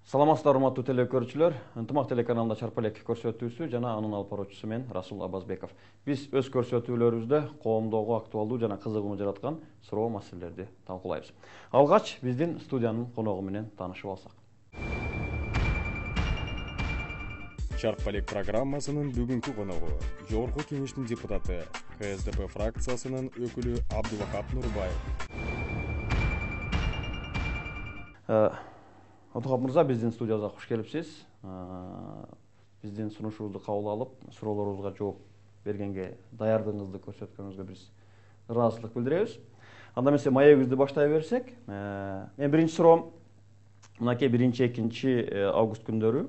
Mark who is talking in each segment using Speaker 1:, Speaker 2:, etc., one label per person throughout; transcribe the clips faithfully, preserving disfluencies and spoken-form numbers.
Speaker 1: Саламатсыздар, урматтуу телекөрүүчүлөр. Ынтымак телеканалында Чарп элек көрсөтүүсү жана анын алып баруучусу мен Расул Абазбеков. Биз өз көрсөтүүлөрүбүздө коомдогу актуалдуу жана кызыгууну жараткан суроо маселелерди талкуулайбыз. Алгач биздин студиянын коногу менен таанышып алсак.
Speaker 2: Чарп элек программасынын бүгүнкү коногу Жогорку Кеңештин депутаты, К С Д П фракциясынын өкүлү Абдулвахап Нурбаев.
Speaker 1: Абдулвахап мырза, биздин студиябызга куш келипсиз. Биздин сунушубузду кабыл алып, суроолорубузга жооп бергенге даярдыгыңызды көрсөткөнүңүзгө биз ыраазычылык билдиребиз. Анда эмесе маегибизди баштай берсек, мен биринчи суроом мынакей биринчи экинчи август күндөрү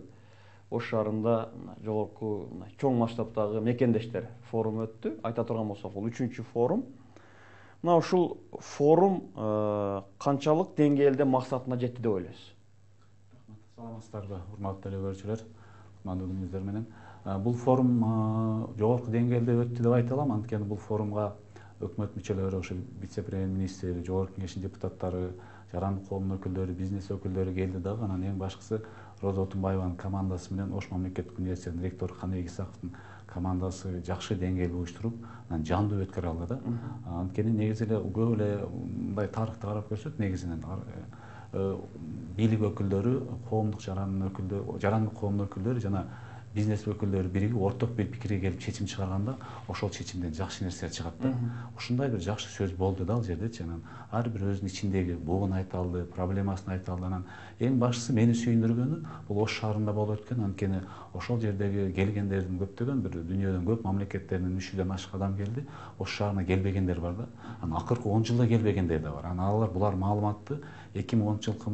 Speaker 1: Ош шаарында жогорку чоң масштабтагы мекендештер форуму өттү. Айта турган болсок, бул үчүнчү форум. Мына ушул форум канчалык деңгээлде максатына жетти деп ойлойсуз?
Speaker 3: Саламатсыздарбы, урматтуу телекөрүүчүлөр, кутмандуу күнүңүздөр менен. Бул форум жогорку деңгээлде өттү деп айта алам, анткени бул форумга өкмөт мүчөлөрү, ошо вице-премьер-министр, жогорку кеңештин депутаттары, жарандык коомдун өкүлдөрү, бизнес өкүлдөрү келди дагы. Анан эң башкысы Роза Отунбаеванын командасы менен Ош мамлекеттик университетинин ректору Каныбек Исаковдун командасы жакшы деңгээлде уюштуруп, анан жандуу өткөрө алды да. Анткени негизи эле көп эле мындай тарыхты карап көрсөк, негизинен бийлик өкүлдөрү, коомдук жарандын өкүлдөрү, жарандык коомдун өкүлдөрү жана бизнес өкүлдөрү биригип орток бир пикирге келип чечим чыгарганда, ошол чечимден жакшы нерселер чыгат да. Ушундай бир жакшы сөз болду да ал жердечи. Анан ар бир өзүнүн ичиндеги бугун айта алды, проблемасын айта алды. Анан эң башкысы мени сүйүндүргөнү бул Ош шаарында болуп өткөн, анткени ошол жердеги келгендердин көптөгөн бир дүйнөдөн көп мамлекеттеринен үч жүздөн ашык адам келди. Ош шаарына келбегендер бар да. Анан акыркы он жылда келбегендер да бар. Анан алар булар маалыматты эки миң онунчу жылкы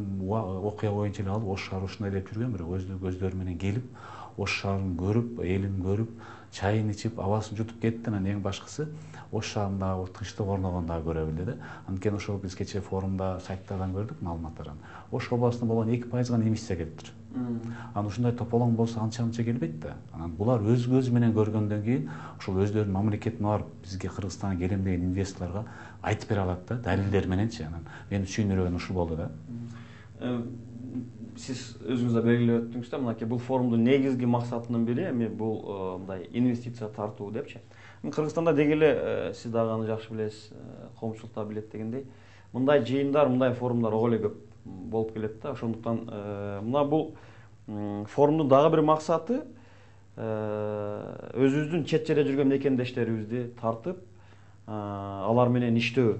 Speaker 3: окуя боюнча эле алып, Ош шаары ушундай деп жүргөн, бирок өздүк көздөрү менен келип, Ош шаарын көрүп, элин көрүп, чайын ичип, абасын жутуп кетти. Анан эң башкысы Ош шаарындагы тынчтык орногон дагы көрө билди да. Анткени ошол биз кечээ форумда сайттардан көрдүк маалыматтарын. Ош областында болгон эки пайыз гана эмиссия келиптир. Анан ушундай тополоң болсо анча-мынча келбейт да. Анан булар өз көзү менен көргөндөн кийин ошол өздөрүнүн мамлекетине барып, бизге Кыргызстанга келем деген инвесторлорго айтып бере алат да, далилдер мененчи. Анан мени сүйүндүргөнү ушул болду да.
Speaker 1: Сиз өзүңүз да белгилеп өттүңүз да, мынакей бул форумдун негизги максатынын бири эми бул мындай инвестиция тартуу депчи. Кыргызстанда деги эле сиз дагы аны жакшы билесиз, коомчулук да билет дегендей, мындай жыйындар, мындай форумдар ого эле көп болуп келет да. Ошондуктан мына бул форумдун дагы бир максаты өзүбүздүн чет жерде жүргөн мекендештерибизди тартып, алар менен иштөө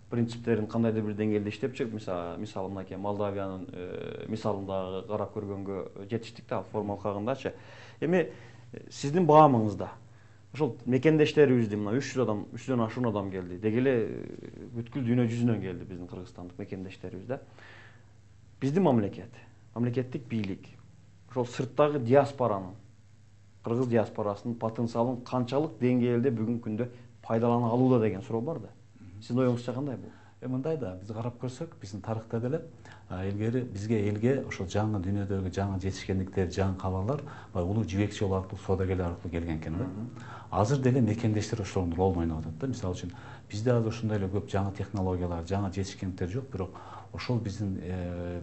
Speaker 1: принциптерин кандайдыр бир деңгээлде иштеп чыгып, мисалы мынакей Молдавиянын мисалындагы карап көргөнгө жетиштик да форум алкагындачы. Эми сиздин баамыңызда ошол мекендештерибизди мына үч жүз адам, үч жүздөн ашуун адам келди. Деги эле бүткүл дүйнө жүзүнөн келди биздин кыргызстандык мекендештерибиз да. Биздин мамлекет, мамлекеттик бийлик ошол сырттагы диаспоранын, кыргыз диаспорасынын потенциалын канчалык деңгээлде бүгүнкү күндө пайдалана алууда деген суроо бар да. Сиздин оюңузча кандай бул?
Speaker 3: Э мындай да, биз карап көрсөк, биздин тарыхта деле илгери бизге элге ошол жаңы дүйнөдөгү жаңы жетишкендиктер, жаңы калалар баягы улуу жибекчи жол аркылуу, соодагерлер аркылуу келген экен да. Азыр деле мекендештер ошонун ролун ойноп атат да. Мисалы үчүн бизде азыр ушундай эле көп жаңы технологиялар, жаңы жетишкендиктер жок, бирок ошол биздин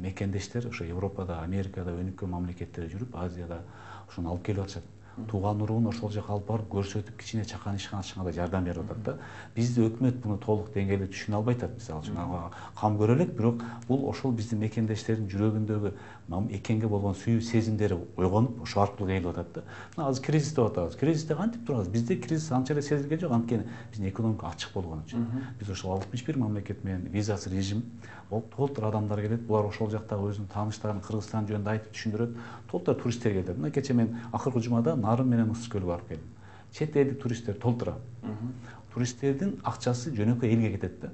Speaker 3: мекендештер ошо Европада, Америкада, өнүккөн мамлекеттерде жүрүп, Азияда ошону алып келип атышат. Тууган уруун ошол жака алып барып көрсөтүп, кичине чакан ишкан ачканга да жардам берип атат да. Бизди өкмөт муну толук деңгээлде түшүнө албай атат, мисалы үчүн кам көрө элек, бирок бул ошол биздин мекендештердин жүрөгүндөгү экенге болгон сүйүү сезимдери ойгонуп, ошол аркылуу келип атат да. Мына азыр кризис деп атабыз. Кризисте кантип турабыз? Бизде кризис анча эле сезилген жок, анткени биздин экономика ачык болгон үчүн. Биз ошол алтымыш бир мамлекет менен визасыз режим, толтур адамдар келет, булар ошол жактагы өзүнүн тааныштарын Кыргызстан жөнүндө айтып түшүндүрөт. Толтур туристтер келет. Мына кечээ мен акыркы жумада Нарын менен Ысык көлгө барып келдим. Чет элдик туристтер толтура. Туристтердин акчасы жөнөкөй элге кетет да.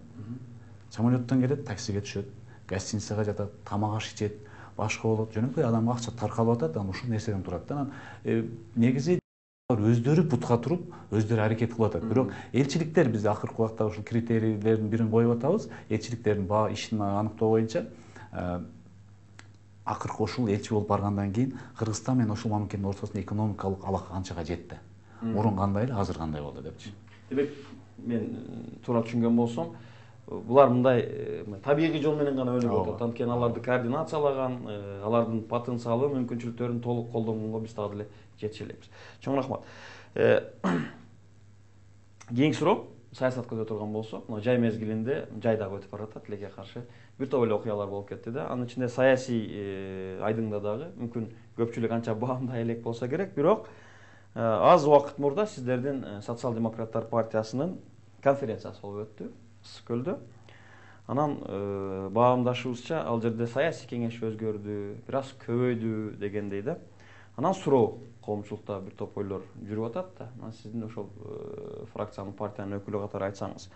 Speaker 3: Самолеттон келет, таксиге түшөт, гостиницага жатат, тамак аш ичет, башка болот. Жөнөкөй адамга акча таркалып атат, анан ушул нерседен турат да. Анан негизи өздөрү бутка туруп, өздөрү аракет кылып атат. Бирок элчиликтер биз акыркы убакта ушул критерийлердин бирин коюп атабыз. Элчиликтердин баа ишин аныктоо боюнча акыркы ушул элчи болуп баргандан кийин Кыргызстан менен ошол мамлекеттин ортосунда экономикалык алака канчага жетти. Мурун кандай эле, азыр кандай болду депчи.
Speaker 1: Демек, мен туура түшүнгөн болсом, булар мындай табигый жол менен гана өнүгүп атат. Анткени аларды координациялаган, алардын потенциалы, мүмкүнчүлүктөрүн толук колдонгонго биз дагы деле жетише элек. Чоң рахмат. Кийинки суроо саясат көзө турган болсок, мына жай мезгилинде жайдагы өтүп баратат, тилекке каршы бир топ эле окуялар болуп кетти да. Анын ичинде саясий айдыңда дагы мүмкүн көпчүлүк анча баамдай элек болсо керек, бирок аз убакыт мурда сиздердин Социал-демократтар партиясынын конференциясы болуп өттү Ысык көлдө. Анан баамдашыбызча ал жерде саясий кеңеш өзгөрдү, бир аз көбөйдү дегендей да. Анан суроо коомчулукта бир топ ойлор жүрүп атат да. Анан сиздин ошол фракциянын, партиянын өкүлү катары айтсаңыз,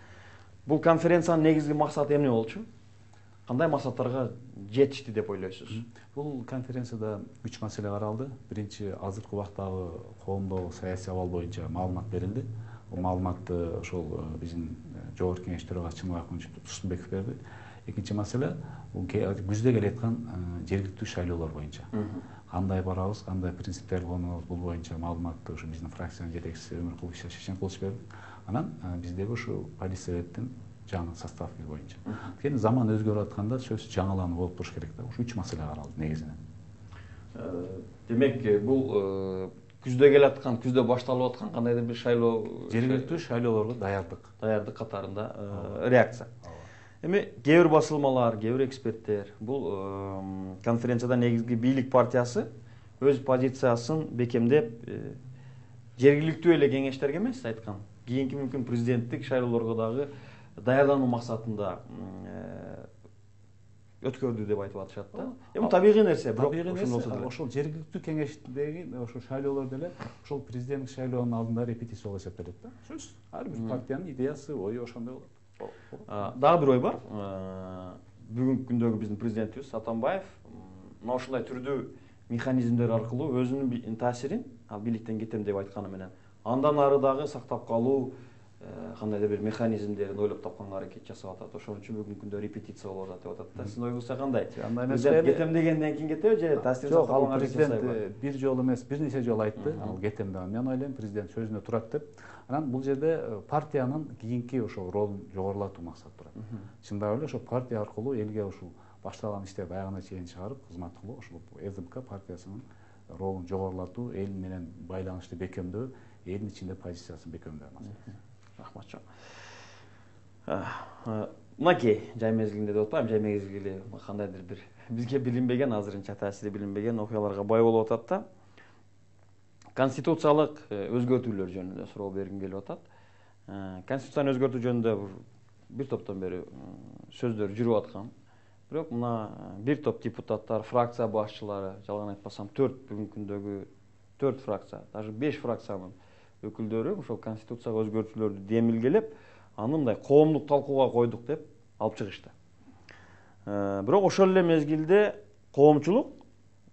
Speaker 1: бул конференциянын негизги максаты эмне болчу? Кандай максаттарга жетишти деп ойлойсуз?
Speaker 3: Бул конференцияда үч маселе каралды. Биринчи, азыркы убактагы коомдогу саясий абал боюнча маалымат берилди. Бул маалыматты ошол биздин жогорку кеңеш төрагасы Чыныбек Турсунбеков берди. Экинчи маселе, бул күздө келе аткан жергиликтүү шайлоолор боюнча. Кандай барабыз, кандай принциптерди колдонобуз, бул боюнча маалыматты ушу биздин фракциянын жетекчиси Өмүркул Шешенкулович берди. Анан биздеги ушу Политсоветтин жаңы составы боюнча. Анткени заман өзгөрүп атканда сөзсүз жаңылануу болуп туруш керек да. Ушу үч маселе каралды негизинен.
Speaker 1: Демек, бул күздө келе аткан, күздө башталып аткан кандайдыр бир шайлоо,
Speaker 3: жергиликтүү шайлоолорго даярдык.
Speaker 1: Даярдык катарында реакция. Эми кээ бир басылмалар, кээ бир эксперттер бул конференцияда негизги бийлик партиясы өз позициясын бекемдеп, жергиликтүү эле кеңештерге эмес айткан, кийинки мүмкүн президенттик шайлоолорго дагы даярдануу максатында өткөрдү деп айтып атышат да. Эми табигый нерсе, бирок
Speaker 3: ошол жергиликтүү кеңештеги ошол шайлоолор деле ошол президенттик шайлоонун алдында репетиция болуп эсептелет да. Сөз ар бир партиянын идеясы, ою ошондой болот.
Speaker 1: Дагы бир ой бар. Бүгүнкү күндөгү биздин президентибиз Атамбаев мына ушундай түрдүү механизмдер аркылуу өзүнүн таасирин ал бийликтен кетем деп айтканы менен андан ары дагы сактап калуу кандайдыр бир механизмдерин ойлоп тапканга аракет жасап атат. Ошон үчүн бүгүнкү күндө репетиция болуп атат деп атат да. Сиздин оюңузча кандай? Президент кетем дегенден кийин кетеби же таасирин сактап калганга аракет жасайбы?
Speaker 3: Президент бир жолу эмес, бир нече жолу айтты, ал кетем деген. Мен ойлойм, президент сөзүнө турат деп. Анан бул жерде партиянын кийинки ошол ролун жогорулатуу максат турат. Чындап эле ошол партия аркылуу элге ушул башталган иштерди аягына чейин чыгарып, кызмат кылуу, ошол СДПК партиясынын ролун жогорулатуу, эл менен байланышты бекемдөө, элдин ичинде позициясын бекемдөө маселеси.
Speaker 1: Рахмат чоң. Мынакей жай мезгилинде деп атпайм, жай мезгили кандайдыр бир бизге билинбеген, азырынча таасири билинбеген окуяларга бай болуп атат да. Конституциялык өзгөртүүлөр жөнүндө суроо бергим келип атат. Конституцияны өзгөртүү жөнүндө бир топтон бери сөздөр жүрүп аткан. Бирок мына бир топ депутаттар, фракция башчылары, жалган айтпасам төрт бүгүнкү күндөгү төрт фракция, даже беш фракциянын өкүлдөрү ошол конституцияга өзгөртүүлөрдү демилгелеп, аны мындай коомдук талкууга койдук деп алып чыгышты. Бирок ошол эле мезгилде коомчулук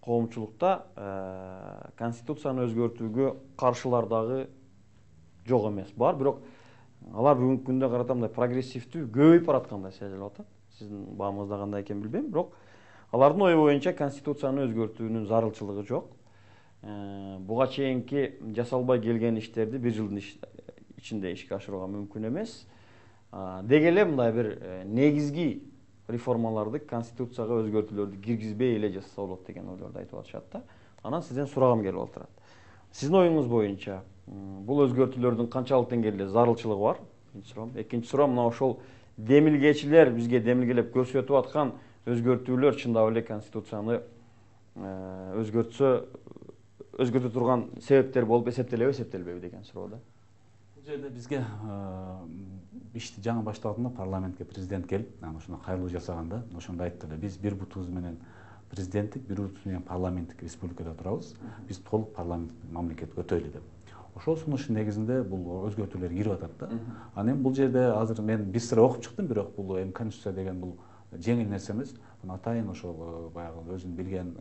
Speaker 1: коомчулукта конституцияны өзгөртүүгө каршылар дагы жок эмес, бар, бирок алар бүгүнкү күндө карата мындай прогрессивдүү көбөйүп бараткандай сезилип атат. Сиздин баамыңызда кандай экенин билбейм, бирок алардын ою боюнча конституцияны өзгөртүүнүн зарылчылыгы жок. Буга чейинки жасалбай келген иштерди бир жылдын ичинде ишке ашырууга мүмкүн эмес. Деги эле мындай бир негизги реформаларды, конституцияга өзгөртүүлөрдү киргизбей эле жасаса болот деген ойлорду айтып атышат да. Анан сизден сурагым келип отурат. Сиздин оюңуз боюнча бул өзгөртүүлөрдүн канчалык деңгээлде зарылчылыгы бар? Биринчи суроом. Экинчи суроом, мына ошол демилгечилер бизге демилгелеп көрсөтүп аткан өзгөртүүлөр чындап эле конституцияны өзгөртсө өзгөртө турган себептер болуп эсептелеби, эсептелбейби деген суроо да.
Speaker 3: Бул жерде бизге ишти жаңы башталганда парламентке президент келип, анан ошондо кайрылуу жасаганда ошондо айтты эле, биз бир бутубуз менен президенттик, бир бутубуз менен парламенттик республикада турабыз, биз толук парламенттик мамлекет өтөйлү деп. Ошол сунуштун негизинде бул өзгөртүүлөр кирип атат да. Анан эми бул жерде азыр мен бир сыра окуп чыктым, бирок бул эми конституция деген бул жеңил нерсе эмес. Муну атайын ошол баягы өзүн билген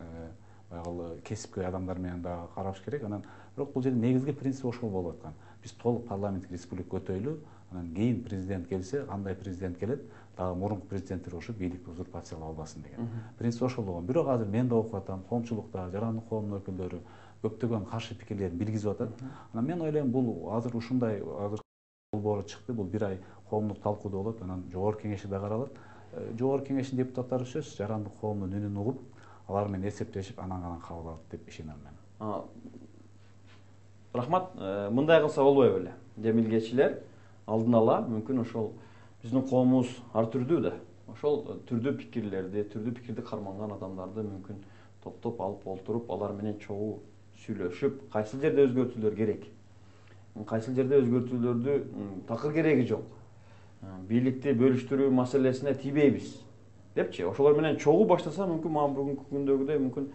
Speaker 3: баягы кесипкөй адамдар менен дагы караш керек. Анан бирок бул жерде негизги принцип ошол болуп аткан. Биз толук парламенттик республика өтөйлү, анан кийин президент келсе, кандай президент келет, дагы мурунку президенттер ошо бийликти узурпациялап албасын деген. Принцип ошол болгон. Бирок азыр мен да окуп атам, коомчулукта жарандык коомдун өкүлдөрү көптөгөн каршы пикирлерин билгизип атат. Анан мен ойлойм, бул азыр ушундай азыр болбору чыкты, бул бир ай коомдук талкуудо болот, анан жогорку кеңеши да каралат. Жогорку кеңештин депутаттары сөзсүз жарандык коомдун үнүн угуп, алар менен эсептешип, анан гана кабыл алат деп ишенем мен.
Speaker 1: Рахмат, мындай кылса болбой беле? Демилгечилер алдын ала мүмкүн ошол биздин коомубуз ар түрдүү да. Ошол түрдүү пикирлерди, түрдүү пикирди карманган адамдарды мүмкүн топтоп алып олтуруп, алар менен чогуу сүйлөшүп, кайсыл жерде өзгөртүүлөр керек, кайсыл жерде өзгөртүүлөрдү такыр кереги жок, бийликти бөлүштүрүү маселесине тийбейбиз депчи, ошолор менен чогуу баштаса мүмкүн мага бүгүнкү күндөгүдөй мүмкүн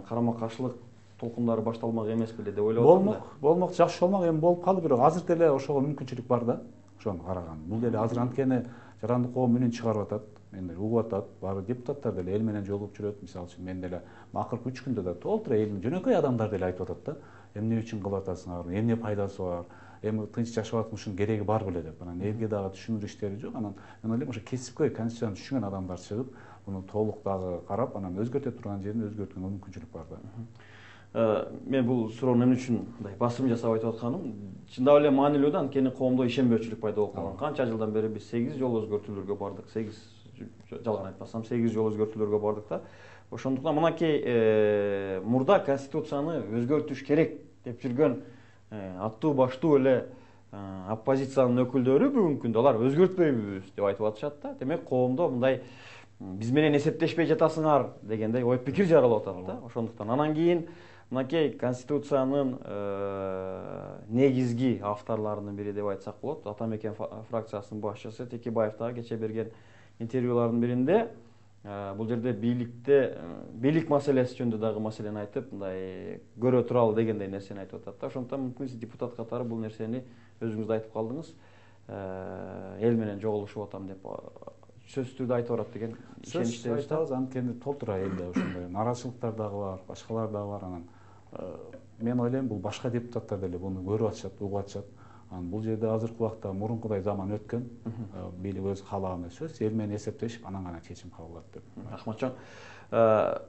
Speaker 1: карама каршылык толкундары башталмак эмес беле деп ойлоп атам да.
Speaker 3: Болмок, болмок, жакшы болмок, эми болуп калды, бирок азыр деле ошого мүмкүнчүлүк бар да. Ошону караган. Бул деле азыр анткени жарандык коом үнүн чыгарып атат, мени угуп атат, баары депутаттар деле эл менен жолугуп жүрөт. Мисалы үчүн мен деле акыркы үч күндө да толтура элдин жөнөкөй адамдар деле айтып атат да. Эмне үчүн кылып атасыңар, эмне пайдасы бар, эми тынч жашап атканын кереги бар беле деп. Анан элге дагы түшүнүр иштери жок. Анан мен ойлойм, ошо кесипкөй конституцияны түшүнгөн адамдар чыгып, муну толук дагы карап, анан өзгөртө турган жерин өзгөрткөнгө мүмкүнчүлүк бар да.
Speaker 1: Мен бул суроону эмне үчүн мындай басым жасап айтып атканым, чындап эле маанилүү да, анткени коомдо ишенбөөчүлүк пайда болуп калган. Канча жылдан бери биз сегиз жолу өзгөртүүлөргө бардык, сегиз жалган айтпасам сегиз жолу өзгөртүүлөргө бардык да. Ошондуктан мынакей мурда конституцияны өзгөртүш керек деп жүргөн аттуу баштуу эле оппозициянын өкүлдөрү бүгүнкү күндө алар өзгөртпөйбүз деп айтып атышат да. Демек коомдо мындай биз менен эсептешпей жатасыңар дегендей ой пикир жаралып атат да. Ошондуктан анан кийин мынакей конституциянын негизги авторлорунун бири деп айтсак болот, Ата Мекен фракциясынын башчысы Текебаев дагы кече берген интервьюлардын биринде бул жерде бийликте бийлик маселеси жөнүндө дагы маселени айтып, мындай көрө туралы дегендей нерсени айтып атат да. Ошондуктан мүмкүн сиз депутат катары бул нерсени өзүңүз да айтып калдыңыз, эл менен жогулушуп атам деп сөзсүз түрдө айтып барат деген ишеничтебиз.
Speaker 3: Сөзсүз айтабыз, анткени толтура элде ошондой нааразычылыктар дагы бар, башкалар дагы бар. Анан мен ойлойм, бул башка депутаттар деле буну көрүп атышат, угуп атышат. Анан бул жерде азыркы убакта мурункудай заман өткөн, бийлик өз каалаган сөз, эл менен эсептешип, анан гана чечим кабыл алат деп.
Speaker 1: Рахмат чоң.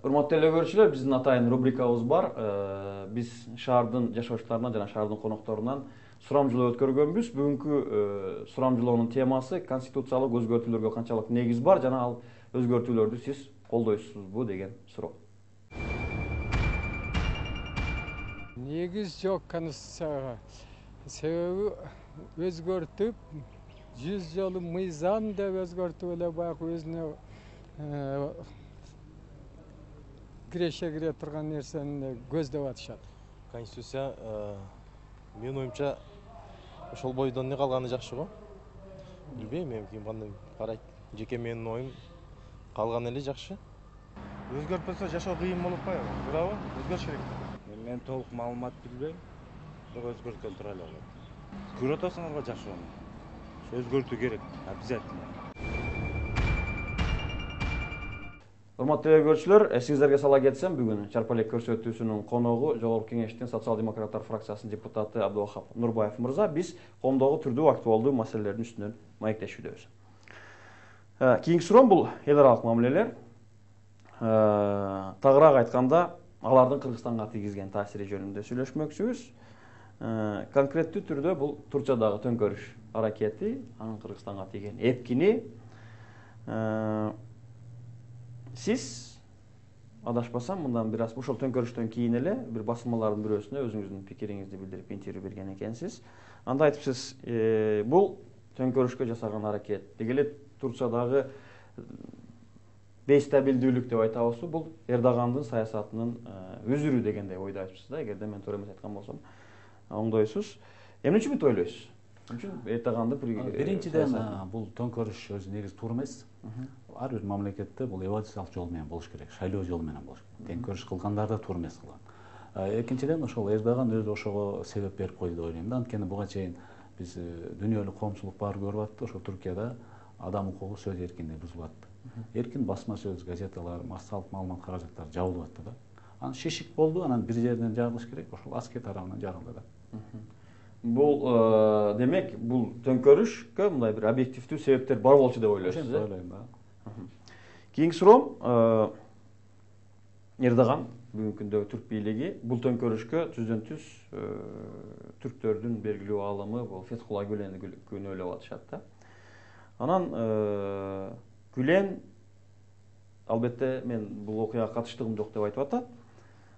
Speaker 1: Урматтуу эле көрүүчүлөр, биздин атайын рубрикабыз бар. Биз шаардын жашоочуларынан жана шаардын конокторунан сурамжылоо өткөргөнбүз. Бүгүнкү сурамжылоонун темасы конституциялык өзгөртүүлөргө канчалык негиз бар жана ал өзгөртүүлөрдү сиз колдойсузбу деген суроо.
Speaker 4: Негиз жок конституцияга. Себеби өзгөртүп, жүз жолу мыйзам деп өзгөртүп эле баягы өзүнө киреше кире турган нерсени көздөп атышат.
Speaker 5: Конституция менин оюмча ошол бойдон эле калганы жакшы го. Билбейм, эми ким кандай карайт. Жеке менин оюм калган эле жакшы.
Speaker 6: Өзгөртпөсө жашоо кыйын болуп калат, туурабы? Өзгөрүш керек.
Speaker 7: Мен толук маалымат билбейм. Бирок өзгөрткөн тура эле болот. Көрүп атасыңарбы жакшы оны? Өзгөртүү керек, обязательно.
Speaker 1: Урматтуу көрүүчүлөр, эсиңиздерге сала кетсем, бүгүн Чарп элек көрсөтүүсүнүн коногу Жогорку Кеңештин социал-демократтар фракциясынын депутаты Абдывахап Нурбаев мырза. Биз коомдогу түрдүү актуалдуу маселелердин үстүнөн маектешүүбүз. Кийинки суроом бул эл аралык мамилелер. Тагыраак айтканда, алардын Кыргызстанга тийгизген таасири жөнүндө сүйлөшмөкчүбүз. Конкреттүү түрдө бул Турчадагы төңкөрүш аракети, анын Кыргызстанга тийген эпкини. Сиз адашпасам, мындан бир аз ошол төңкөрүштөн кийин эле бир басылмалардын бирөөсүнө өзүңүздүн пикириңизди билдирип интервью берген экенсиз. Анда айтыпсыз, бул төңкөрүшкө жасаган аракет деги эле Турчадагы бейстабилдүүлүк деп айтабызбы, бул Эрдогандын саясатынын үзүрү дегендей ойдо айтыпсыз да, эгерде мен туура эмес айткан болсом, оңдойсуз. Эмне үчүн бүтүп ойлойсуз? Эмне үчүн Эрдогандын
Speaker 3: биринчиден бул төңкөрүш өзү негизи туура эмес. Ар бир мамлекетте бул эволюциялык жол менен болуш керек, шайлоо жолу менен болуш керек. Төңкөрүш кылгандар да туура эмес кылган. Экинчиден, ошол Эрдоган өзү ошого себеп берип койду деп ойлойм да. Анткени буга чейин биз дүйнөлүк коомчулук баары көрүп атты, ошо Түркияда адам укугу, сөз эркиндиги бузулуп атты. Эркин басма сөз, газеталар, массалык маалымат каражаттары жабылып атты да. Анан шишик болду, анан бир жерден жабылыш керек, ошол аскер тарабынан жабылды да.
Speaker 1: Бул демек, бул төңкөрүшкө мындай бир объективдүү себептер бар болчу деп ойлойсуз,
Speaker 3: э? Ойлойм да.
Speaker 1: Кийинки суроом, Эрдоган бүгүнкү күндөгү түрк бийлиги бул төңкөрүшкө түздөн түз түрктөрдүн белгилүү аалымы бул Фетхулла Гүлени күнөөлөп атышат да. Анан Гүлен албетте мен бул окуяга катыштыгым жок деп айтып атат.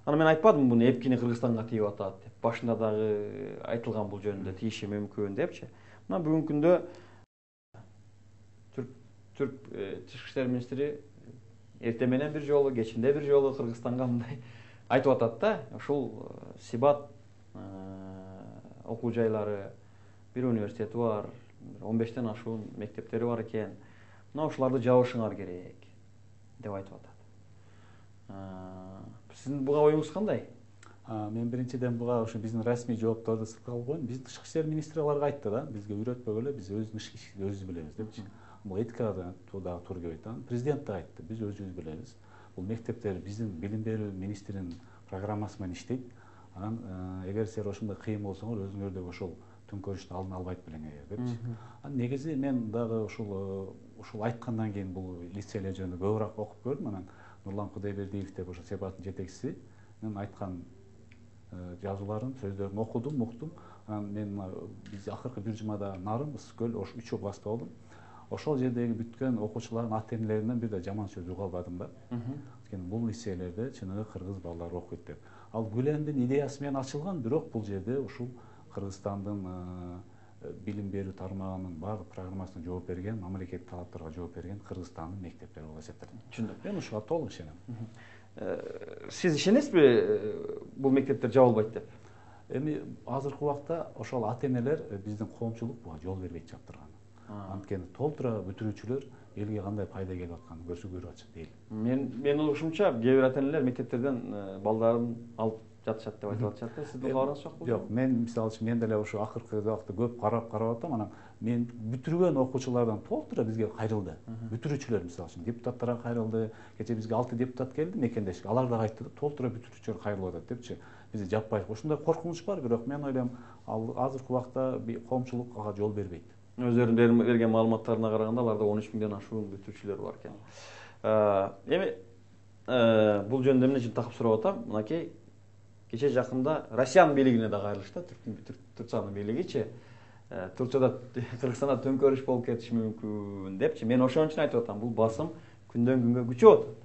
Speaker 1: Анан мен айтпадым буну эпкини Кыргызстанга тийип атат деп. Башында дагы айтылган бул жөнүндө тийиши мүмкүн депчи. Мына бүгүнкү күндө Түрк Түрк тышкы иштер министри эртең менен бир жолу, кечинде бир жолу Кыргызстанга мындай айтып атат да, ушул Сибат окуу жайлары, бир университети бар, он бештен ашуун мектептери бар экен. Мына ушуларды жабышыңар керек деп айтып атат. Сиздин буга оюңуз кандай?
Speaker 3: Мен биринчиден буга ушу биздин расмий жоопторду сыкалып коеюн. Биздин тышкы иштер министри аларга айтты да, бизге үйрөтпөгүлө, биз өзүбүздүн ишибизди өзүбүз билебиз депчи. Бул этикада дагы туура келбейт. Президент да айтты, биз өзүбүз билебиз. Бул мектептер биздин билим берүү министринин программасы менен иштейт. Анан эгер силер ошондой кыйын болсоңор өзүңөрдөгү ошол төңкөрүштү алдын албайт белеңер депчи. Анан негизи мен дагы ушул ушул айткандан кийин бул лицейлер жөнүндө көбүрөөк окуп көрдүм. Анан Нурлан Кудайбердиев деп ошо Себаттын жетекчиси мен айткан жазууларын, сөздөрүн окудум, уктум. Анан мен биз акыркы бир жумада Нарын, Ысыккөл, ош үч областта болдум. Ошол жердеги бүткөн окуучулардын ата энелеринен бир да жаман сөз уга албадым да. Анткени бул лицейлерде чыныгы кыргыз балдары окуйт деп. Ал Гүлендин идеясы менен ачылган, бирок бул жерде ушул Кыргызстандын билим берүү тармагынын баардык программасына жооп берген, мамлекеттик талаптарга жооп берген Кыргызстандын мектептери болуп эсептелет.
Speaker 1: Түшүндүм.
Speaker 3: Мен ушуга толук ишенем.
Speaker 1: Сиз ишенесизби бул мектептер жабылбайт деп?
Speaker 3: Эми азыркы убакта ошол ата энелер биздин коомчулук буга жол бербейт жаптырган. Анткени толтура бүтүрүүчүлөр элге кандай пайда келип атканын көрсө көрүп атышат дейли.
Speaker 1: Мен мен угушумча кээ бир ата энелер мектептерден балдарын алып жатышат деп айтып атышат да. Сиздин кабарыңыз жокпу?
Speaker 3: Жок, мен мисалы үчүн мен деле ошо акыркы убакта көп карап карап атам. Анан мен бүтүргөн окуучулардан толтура бизге кайрылды. Бүтүрүүчүлөр мисалы үчүн депутаттарга кайрылды. Кече бизге алты депутат келди мекендешке. Алар да айтты да, толтура бүтүрүүчүлөр кайрылып атат депчи. Бизди жаппай. Ушундай коркунуч бар, бирок мен ойлойм, ал азыркы убакта коомчулук ага жол бербейт.
Speaker 1: Өздөрүнүн берген маалыматтарына караганда аларда он үч миңден ашуун бүтүрүүчүлөр бар экен. Эми бул жөнүндө эмне үчүн такып сурап атам? Мынакей кече жакында Россиянын бийлигине да кайрылышты, Турциянын бийлигичи. Турцияда Кыргызстанда төңкөрүш болуп кетиши мүмкүн депчи. Мен ошон үчүн айтып атам, бул басым күндөн күнгө күчөп атат.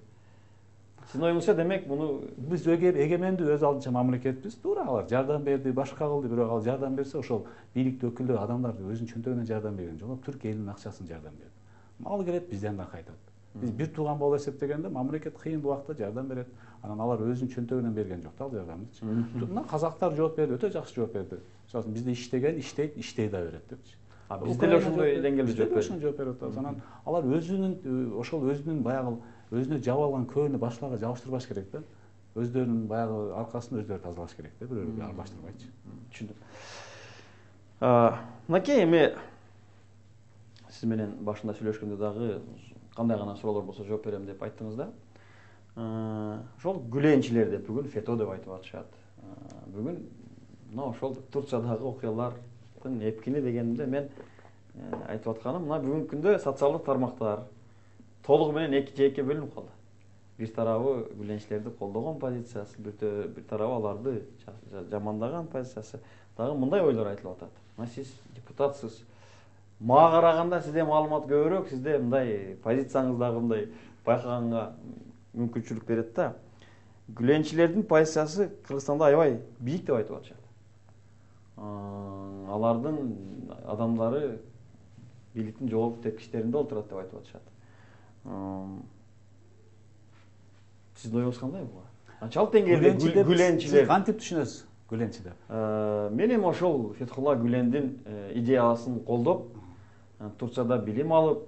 Speaker 1: Сиздин оюңузча демек муну
Speaker 3: биз эгемендүү өз алдынча мамлекетпиз. Туура алар жардам берди, башка кылды, бирок ал жардам берсе ошол бийликтин өкүлдөрү адамдар өзүнүн чөнтөгүнөн жардам берген жок, Түркия элинин акчасын жардам берди. Мал келет бизден да кайтат. Биз бир тууган болуп эсептегенде мамлекет кыйын убакта жардам берет. Анан алар өзүнүн чөнтөгүнөн берген жок да ал жардамдычы. Мына казактар жооп берди, өтө жакшы жооп берди. Мисалы бизде иштеген, иштейт, иштей да берет депчи.
Speaker 1: Биз деле ошондой деңгээлде жооп бердик.
Speaker 3: Ошондой жооп берип атабыз. Анан алар өзүнүн ошол өзүнүн баягы өзүнө жаап алган көөнү башкаларга жабыштырбаш керек да. Өздөрүнүн баягы аркасын өздөрү тазалаш керек да, бирөөгө аралаштырбайчы.
Speaker 1: Түшүндүм. Мынакей эми сиз менен башында сүйлөшкөндө дагы кандай гана суроолор болсо жооп берем деп айттыңыз да. Ошол гүленчилер деп бүгүн фето деп айтып атышат. Бүгүн мына ошол Турциядагы окуялардын эпкини дегенде мен айтып атканым, мына бүгүнкү күндө социалдык тармактар толугу менен эки жээкке бөлүнүп калды. Бир тарабы гүленчилерди колдогон позициясы, бир тарабы аларды жамандаган позициясы. Дагы мындай ойлор айтылып атат. Мына сиз депутатсыз. Мага караганда сизде маалымат көбүрөөк, сизде мындай позицияңыз дагы мындай байкаганга мүмкүнчүлүк берет да. Гүленчилердин позициясы Кыргызстанда аябай бийик деп айтып атышат. Алардын адамдары бийликтин жогорку тепкичтеринде отурат деп айтып атышат. Сиздин оюңуз кандай буга? Канчалык деңгээлде гүленчилер
Speaker 3: кантип түшүнөсүз гүленчи деп?
Speaker 1: Мен эми ошол Фетхулла Гүлендин идеясын колдоп, Турцияда билим алып,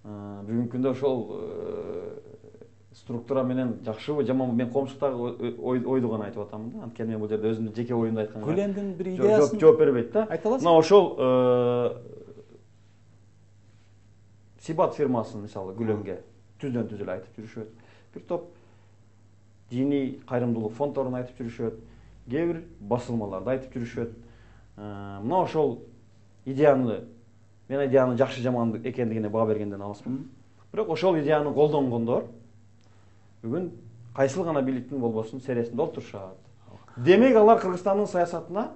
Speaker 1: бүгүнкү күндө ошол структура менен жакшыбы, жаманбы, мен коомчулуктагы ойду гана айтып атам да. Анткени мен бул жерде өзүмдүн жеке оюмду айтканга
Speaker 3: Гүлендин бир идеясын
Speaker 1: жооп бербейт да.
Speaker 3: Айта аласыз?
Speaker 1: Мына ошол Сибат фирмасын мисалы Гүленге түздөн түз эле айтып жүрүшөт. Бир топ диний кайрымдуулук фонддорун айтып жүрүшөт. Кээ бир басылмаларды айтып жүрүшөт. Мына ошол идеяны, мен идеянын жакшы жаман экендигине баа бергенден алыспын. Бирок ошол идеяны колдонгондор бүгүн кайсыл гана бийликтин болбосун сересинде отурушат. Демек алар Кыргызстандын саясатына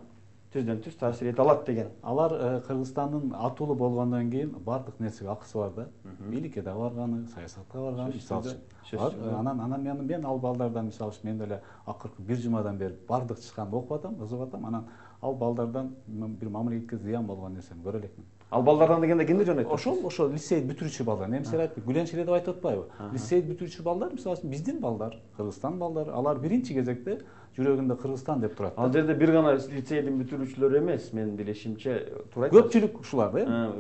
Speaker 1: түздөн түз таасир эте алат деген.
Speaker 3: Алар Кыргызстандын атуулу болгондон кийин баардык нерсеге акысы бар да. Бийликке да барганы, саясатка барганы, мисалы үчүн. Анан анан мен мен ал балдардан мисалы үчүн мен деле акыркы бир жумадан бери баардык чыкканды окуп атам, ызып атам. Анан ал балдардан бир мамлекетке зыян болгон нерсени көрө элекмин.
Speaker 1: Ал балдардан дегенде кимди жөн айтасыз?
Speaker 3: Ошол ошол лицейди бүтүрүүчү балдар. Эмсе айтып, Гүленчилер деп айтып атпайбы? Лицейди бүтүрүүчү балдар, мисалы үчүн биздин балдар, Кыргызстан балдары, алар биринчи кезекте жүрөгүндө Кыргызстан деп турат.
Speaker 1: Ал жерде бир гана лицейдин бүтүрүүчүлөр эмес, менин билишимче, туура айтасыз.
Speaker 3: Көпчүлүк ушулар да.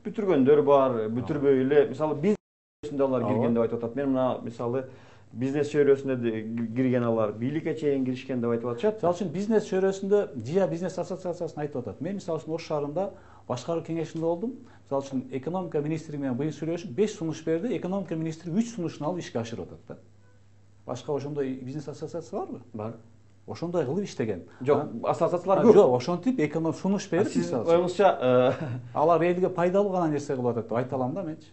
Speaker 1: Бүтүргөндөр бар, бүтүрбөй эле, мисалы бизнесинде алар кирген деп айтып атат. Мен мына мисалы бизнес чөйрөсүнө кирген алар, бийликке чейин киришкен деп айтып атышат.
Speaker 3: Мисалы үчүн бизнес чөйрөсүндө ЖИА бизнес ассоциациясын айтып атат. Мен мисалы үчүн Ош шаарында башкаруу кеңешинде болдум. Мисалы үчүн экономика министри менен быйыл сүйлөшүп, беш сунуш берди, экономика министри үч сунушун алып ишке ашырып атат да. Башка ошондой бизнес ассоциация барбы?
Speaker 1: Бар.
Speaker 3: Ошондой кылып иштеген.
Speaker 1: Жок, ассоциациялар көп.
Speaker 3: Жок, ошентип эконом сунуш берип,
Speaker 1: сиз оюңузча
Speaker 3: алар элге пайдалуу гана нерсе кылып атат деп айта алам да менчи.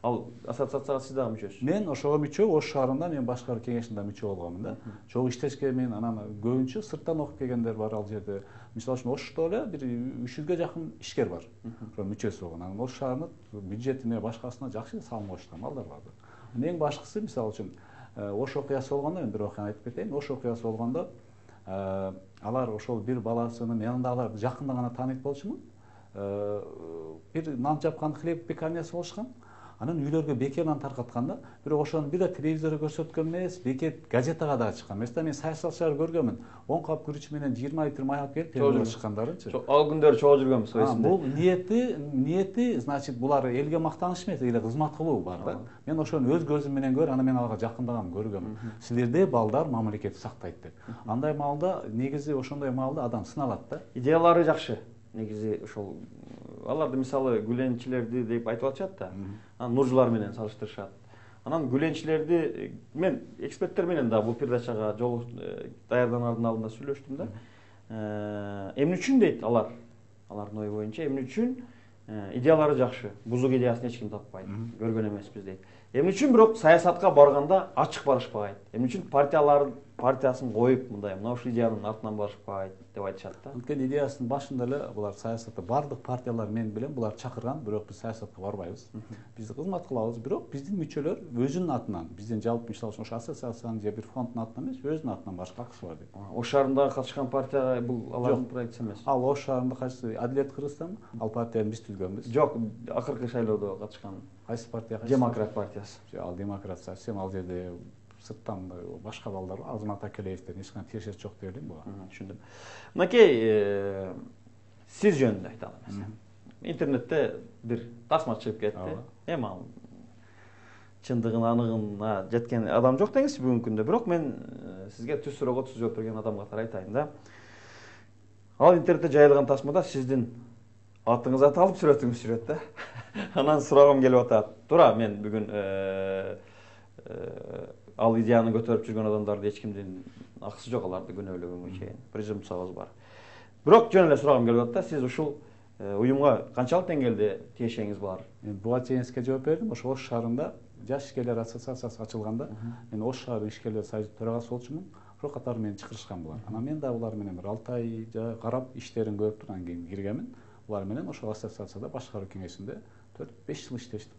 Speaker 1: Ал ассоциацияга сиз дагы мүчөсүз?
Speaker 3: Мен ошого мүчө, Ош шаарында мен башкаруу кеңешинде мүчө болгонмун да. Чогуу иштешке мен анан көбүнчө сырттан окуп келгендер бар ал жерде. Мисалы үчүн Ошто эле бир үч жүзгө жакын ишкер бар. Ошо мүчөсү болгон. Анан Ош шаарынын бюджетине башкасына жакшы салым коюшкан балдар бар. Эң башкысы мисалы үчүн Ош окуясы болгондо мен бир окуяны айтып кетейин. Ош окуясы болгондо алар ошол бир баласынын янындагыларды жакында гана тааныйт болчумун. Бир нан жапкан хлеб пекарнясы болушкан. Анан үйлөргө бекер нан таркатканда, бирок ошону бир да телевизордо көрсөткөн эмес, бекет газетага дагы чыккан. Места мен саясатчыларды көргөмүн. он кап күрүч менен жыйырма литр май алып келип телевизорго чыккандарынчы.
Speaker 1: Ал күндөрү чогуу жүргөнбүз эсимде.
Speaker 3: Бул ниети, ниети, значит, булар элге мактаныш эмес, эле кызмат кылуу бар да. Мен ошону өз көзүм менен көрүп, анан мен аларга жакындагам көргөмүн. Силерде балдар мамлекетти сактайт деп. Андай маалда негизи ошондой маалда адам сыналат да.
Speaker 1: Идеялары жакшы. Негизи ошол аларды мисалы гүленчилерди деп айтып атышат да. Анан нуржулар менен салыштырышат. Анан гүленчилерди мен эксперттер менен да бул передачага жолу даярданардын алдында сүйлөштүм да. Эмне үчүн дейт алар? Алардын ою боюнча эмне үчүн идеялары жакшы, бузук идеясын эч ким таппайт, көргөн эмеспиз дейт. Эмне үчүн бирок саясатка барганда ачык барышпайт? Эмне үчүн партиялар партиясын коюп мындай мына ушул идеянын артынан барышпайт деп айтышат да.
Speaker 3: Анткени идеясынын башында эле булар саясатта бардык партиялар мен билем булар чакырган, бирок биз саясатка барбайбыз. Биз кызмат кылабыз, бирок биздин мүчөлөр өзүнүн атынан, биздин жалпы мисалы үчүн ошо ассоциациянын же бир фонддун атынан эмес, өзүнүн атынан барышка акысы бар дейт.
Speaker 1: Ош шаарында катышкан партия бул алардын проектиси эмес.
Speaker 3: Ал Ош шаарында кайсы Адилет Кыргызстан, ал партияны биз түзгөнбүз.
Speaker 1: Жок, акыркы шайлоодо катышкан.
Speaker 3: Кайсы партия?
Speaker 1: Демократ партиясы.
Speaker 3: Ал демократ совсем ал жерде сырттан башка балдар, Азамат Акелеевден эч кандай тиешеси жок деп элейм буга.
Speaker 1: Түшүндүм. Мынакей сиз жөнүндө айталы эмес. Интернетте бир тасма чыгып кетти. Эми ал чындыгын аныгына жеткен адам жок деңиз бүгүнкү күндө. Бирок мен сизге түз суроого түз жооп берген адам катары айтайын да. Ал интернетте жайылган тасмада сиздин атыңыз аталып сүрөтүңүз жүрөт да. Анан сурагым келип атат. Туура, мен бүгүн ал идеяны көтөрүп жүргөн адамдарды эч кимдин акысы жок, аларды күнөөлөгөнгө чейин презумпциябыз бар. Бирок жөн эле сурагым келип атат да, сиз ушул уюмга канчалык деңгээлде тиешеңиз бар?
Speaker 3: Мен буга чейин сизге жооп бердим. Ошо Ош шаарында жаш ишкерлер ассоциациясы ачылганда, мен Ош шаары ишкерлер союзунун төрагасы болчумун. Ошол катары мени чакырышкан булар. Анан мен да булар менен бир алты ай карап иштерин көрүп туруп анан кийин киргенмин. Булар менен ошол ассоциацияда башкаруу кеңешинде төрт беш жыл иштештим.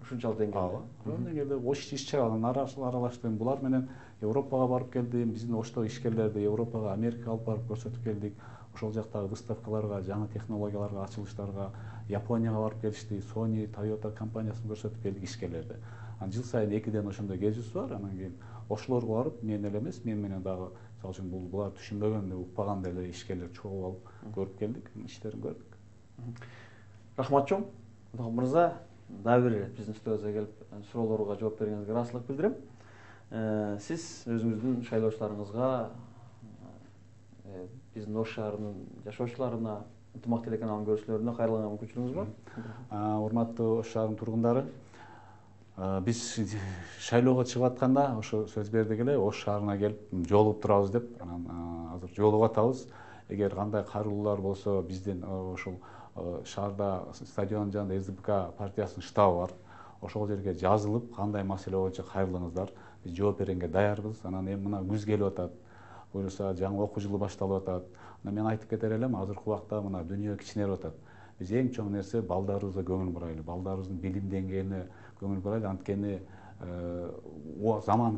Speaker 1: Ушунчалык деңгээлде.
Speaker 3: Ошол деңгээлде Ош иш-чараларын аралаштым. Булар менен Европага барып келдим. Биздин Ошто ишкерлерди Европага, Америкага алып барып көрсөтүп келдик. Ошол жактагы выставкаларга, жаңы технологияларга, ачылыштарга, Японияга барып келишти. Sony, Toyota компаниясын көрсөтүп келдик ишкерлерди. Анан жыл сайын экиден ошондой кезүүбүз бар. Анан кийин ошолорго барып, мен эле эмес, мен менен дагы мисалы үчүн бул булар түшүнбөгөн, укпаган деле ишкерлер чогуу алып көрүп келдик, иштерин көрдүк.
Speaker 1: Рахмат чоң. Мырза, дагы бир биздин студиябызга келип суроолорго жооп бергениңизге ыраазычылык билдирем. Сиз өзүңүздүн шайлоочуларыңызга, биздин Ош шаарынын жашоочуларына, ынтымак телеканалынын көрүүчүлөрүнө кайрылганга мүмкүнчүлүгүңүз бар?
Speaker 3: Урматтуу Ош шаарынын тургундары, биз шайлоого чыгып атканда ошо сөз бердик эле, Ош шаарына келип жолугуп турабыз деп. Анан азыр жолугуп атабыз. Эгер кандай кайрылуулар болсо, биздин ошол шаарда стадион жанында СДПК партиясынын штабы бар. Ошол жерге жазылып, кандай маселе боюнча кайрылыңыздар, биз жооп бергенге даярбыз. Анан эми мына күз келип атат. буюрса жаңы окуу жылы башталып атат. Мен айтып кетер элем, азыркы убакта мына дүйнө кичинерип атат. Биз эң чоң нерсе балдарыбызга көңүл бурайлы, балдарыбыздын билим деңгээлине көңүл бурайлы. Анткени заман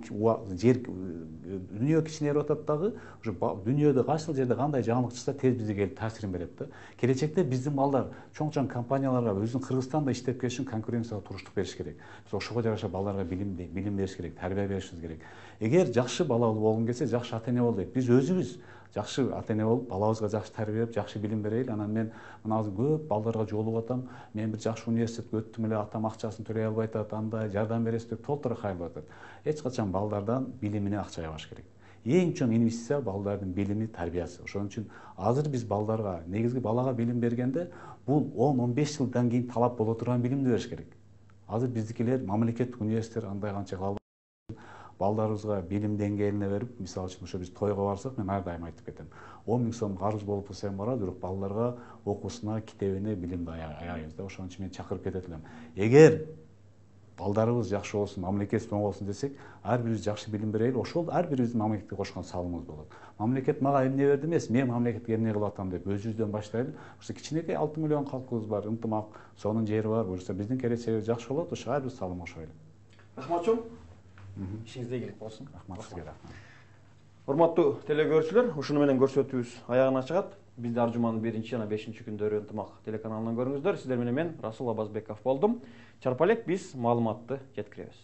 Speaker 3: жер дүйнө кичинерип атат дагы, уже дүйнөдө кайсыл жерде кандай жаңылык чыкса тез бизге келип таасирин берет да. Келечекте биздин балдар чоң-чоң компанияларга өзүнүн Кыргызстанда иштеп келишин конкуренцияга туруштук бериш керек. Биз ошого жараша балдарга билим билим бериш керек, тарбия беришибиз керек. Эгер жакшы балалуу болгуң келсе, жакшы ата-эне бол дейт. Биз өзүбүз жакшы ата-эне болуп, балабызга жакшы тарбия берип, жакшы билим берейли. Анан мен мына азыр көп балдарга жолугуп атам. Мен бир жакшы университетке өттүм эле, атам акчасын төлөй албай атат, андай жардам бересиз деп толтура кайрылып атат. Эч качан балдардан билимине акча жабаш керек. Эң чоң инвестиция балдардын билими, тарбиясы. Ошон үчүн азыр биз балдарга, негизги балага билим бергенде, бул он он беш жылдан кийин талап боло турган билимди бериш керек. Азыр биздикилер мамлекеттик университеттер андай канча балдарыбызга билим деңгээлине берип, мисалы үчүн ошо биз тойго барсак, мен ар дайым айтып кетем. он миң сом карыз болуп турса эми барат, бирок балдарга окуусуна, китебине билимди аябыз да. Ошон үчүн мен чакырып кетет элем. Эгер балдарыбыз жакшы болсун, мамлекет оң болсун десек, ар бирибиз жакшы билим берели, ошол ар бирибиздин мамлекетке кошкон салымыбыз болот. Мамлекет мага эмне берди эмес, мен мамлекетке эмне кылып атам деп өзүбүздөн баштайлы. Ошо кичинекей алты миллион калкыбыз бар, ынтымак, сонун жери бар. Буюрса биздин келечегибиз жакшы болот, ошо ар бир салым кошойлу.
Speaker 1: Рахмат чоң. Ишиңизде ийгилик болсун.
Speaker 3: Рахмат сизге, рахмат.
Speaker 1: Урматтуу телекөрүүчүлөр, ушуну менен көрсөтүүбүз аягына чыгат. Бизди ар жуманын биринчи жана бешинчи күндөрү ынтымак телеканалынан көрүңүздөр. Сиздер менен мен Расул Абазбеков болдум. Чарпа элек биз маалыматты жеткиребиз.